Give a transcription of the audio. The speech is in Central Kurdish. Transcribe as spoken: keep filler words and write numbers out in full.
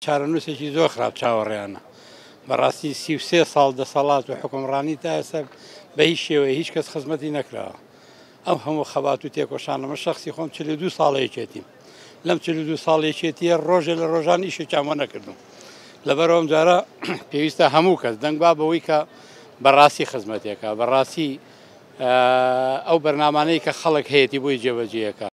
چارەنووسێکی زۆر خراپ چاوەڕێیانە. بەڕاستی سی و سێ ساڵ دەسەڵات و حکومڕانی تا ئێستا بە هیچ شێوەیە هیچ کەس خزمەتی نەکراوە. ئەم هەموو خەبات و تێکۆشانە، من شخصی خۆم چل و دوو ساڵە یەکێتیم، لەم چل و دوو ساڵ یەکێتیە ڕۆژێ لە ڕۆژان ئیشێکیان بۆ نەکردم. لەبەر ئەم جارە پێویستە هەموو کەس دەنگ با بەوەی کە بەڕاستی خزمەتێکە، بەڕاستی ئەو بەرنامانەی کە خەڵک هەیەی بۆی جێبەجێیەکە.